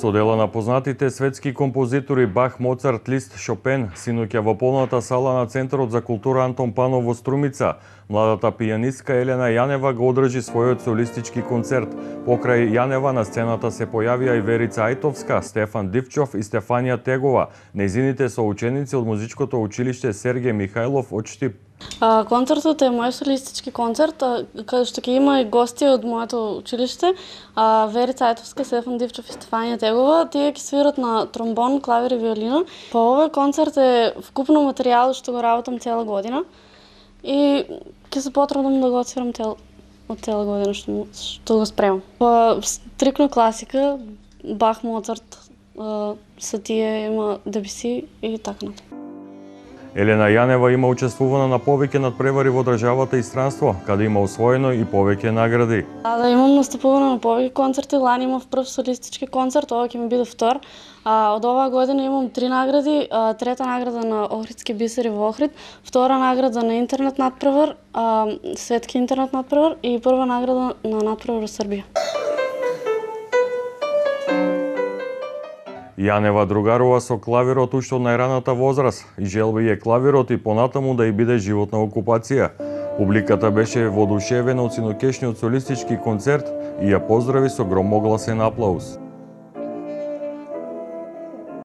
Со дела на познатите светски композитори Бах, Моцарт, Лист, Шопен, синоќа во полната сала на Центарот за култура Антон Панов во Струмица, младата пијанистка Елена Јанева го одржи својот солистички концерт. Покрај Јанева на сцената се појавија и Верица Ајтовска, Стефан Дивчов и Стефанија Тегова. Нејзините соученици од музичкото училиште Сергеј Михајлов од Штип. Концертот е мој солистички концерт, каде што ќе има и гости од моето училиште, Верица Ајтовска, Стефан Дивчов и Стефанија Тегова. Тие ќе свират на тромбон, клавир и виолина. По овој концерт е вкупно материјал што го работам цела година и ќе се потрудам да го отсвирам од цела година што го спремам. По стрикно класика, Бах, Моцарт, се тие има Дебюси и така натаму. Елена Јанева има учествувано на повеќе надпревари во државата и странство, каде има освоено и повеќе награди. Да, имам настапувано на повеќе концерти, лани имав прв солистички концерт, ова ќе ми биде втор. Од оваа година имам 3 награди, трета награда на Охридски бисери во Охрид, втора награда на интернет надпревар, светски интернет надпревар и прва награда на надпревар во Србија. Јанева другарува со клавирот уште од најраната возраст и желби е клавирот и понатаму да ја биде животна окупација. Публиката беше воодушевена од синокешниот солистички концерт и ја поздрави со громогласен аплауз.